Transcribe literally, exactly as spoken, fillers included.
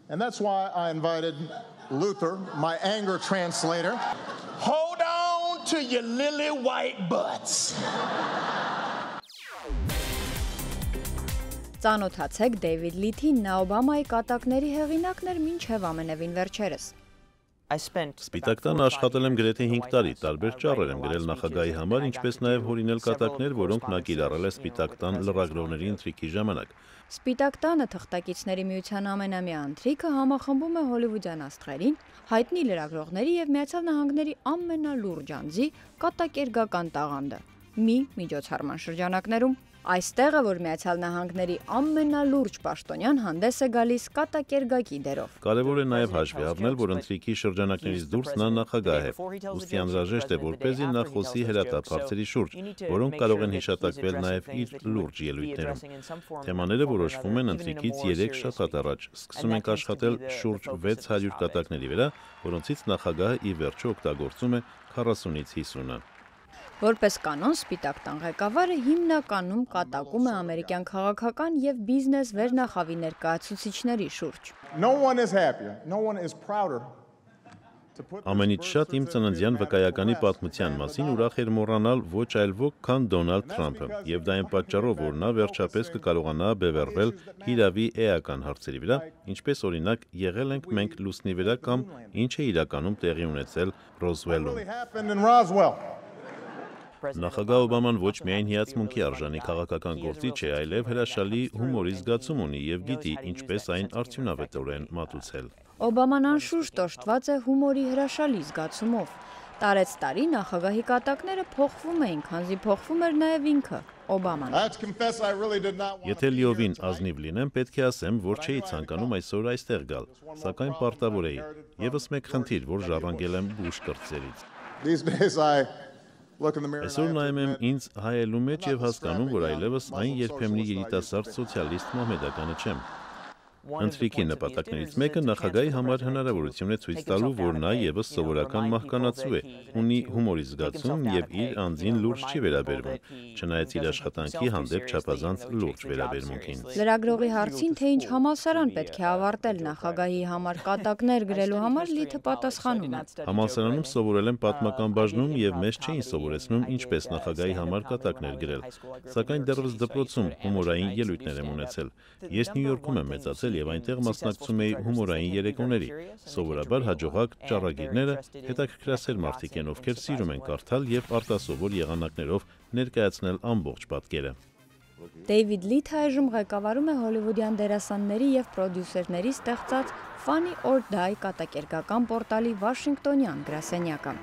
And that's why I invited Luther, my anger translator. Hold on to your lily white butts. Ծանոթացեք Դեյվիդ Լիթին, նա Օբամայի կատակների հեղինակն էր մինչև ամենևին վերջերս։ Սպիտակ տանը աշխատել եմ գրեթե հինգ տարի, տարբեր ճառեր եմ գրել նախագահի համար, ինչպես նաև հորինել կատակներ, որոնք նա կիրառել է Սպիտակ տան լրագրողների ընթրիքի ժամանակ։ Սպիտակ տանը թղթակիցների միության ամենամյա ընթրիքը համախմբում է հոլիվուդյան աստղերին, հայտնի լրագրողների և Միացյալ Նահանգների ամենալուրջ անձի կատակերգական տաղանդը։ Մի միջոցառման շրջանակներում այստեղ է, որ Միացյալ Նահանգների ամենալուրջ պաշտոնյան հանդես է գալիս կատակերգակի դերով։ Կարևոր է նաև հաշվի առնել, որ ընթրիքի շրջանակներից դուրս նա նախագահ է, ուստի անհրաժեշտ է, որպեսզի նա խոսի հրատապ հարցերի շուրջ, որոնք կարող են հիշատակվել նաև իր լուրջ ելույթներում։ Թեմաները որոշվում են ընթրիքից երեք շաբաթ առաջ, սկսում ենք աշխատել շուրջ վեց հարյուր կատակների վրա, որոնցից նախագահը ի վերջո օգտագործում է քառասունից հիսունը։ Որպես կանոն, Սպիտակ տան ղեկավարը հիմնականում կատակում է ամերիկյան քաղաքական և բիզնես վերնախավի ներկայացուցիչների շուրջ։ Ամենից շատ իմ ծննդյան վկայականի պատմության մասին ուրախ էր մոռանալ ոչ այլ ոք, քան Դոնալդ Թրամփը, եւ դա այն պատճառով, որ նա վերջապես կկարողանա բևեռվել հիրավի էական հարցերի վրա, ինչպես օրինակ եղել ենք մենք լուսնի վրա կամ ինչ է իրականում տեղի ունեցել Ռոզվելում։ Նախագահ Օբաման ոչ միայն հիացմունքի արժանի քաղաքական գործիչ է, այլև հրաշալի հումորի զգացում ունի եւ գիտի ինչպես այն արդյունավետորեն մատուցել։ Օբաման անշուշտ օժտված է հումորի հրաշալի զգացումով։ Տարեց տարի նախագահի կատակները փոխվում էին, քանզի փոխվում էր նաեւ ինքը, Օբաման։ Եթե լիովին ազնիվ լինեմ, պետք է ասեմ, որ չէի ցանկանում այսօր այստեղ գալ, սակայն պարտավոր էի։ Եվս մեկ խնդիր, որ ժառանգել եմ Բուշ կրտսերից։ Այսօր նայում եմ ինձ հայելու մեջ և հասկանում, որ այլևս այն երբեմնի երիտասարդ սոցիալիստ մահմեդականը չեմ։ Ընթրիքի նպատակներից մեկը նախագահի համար հնարավորություն է ցույց տալու, որ նա ևս սովորական մահկանացու է, ունի հումորի զգացում և իր անձին լուրջ չի վերաբերվում, չնայած իր աշխատանքի հանդեպ չափազանց լուրջ վերաբերմունքին։ Լրագրողի հարցին, թե ինչ համալսարան պետք է ավարտել նախագահի համար կատակներ գրելու համար, Լիթը պատասխանում է։ Համալսարանում սովորել եմ պատմական բաժնում և մեզ չէին սովորեցնում ինչպես նախագահի համար կատակներ գրել, սակայն դեռևս դպրոցում հումորային ելույթներ եմ ունեցել։ Ես Նյու Յորքում եմ մեծացել և այնտեղ մասնակցում էի հումորային երեկոների։ Սովորաբար հաջողակ ճառագիրները հետաքրքրասեր մարդիկ են, ովքեր սիրում են կարդալ և արտասովոր եղանակներով ներկայացնել ամբողջ պատկերը։ Դեյվիդ Լիթը այժմ ղեկավարում է հոլիվուդյան դերասանների և պրոդյուսերների ստեղծած Funny or Die կատակերգական պորտալի վաշինգտոնյան գրասենյակը։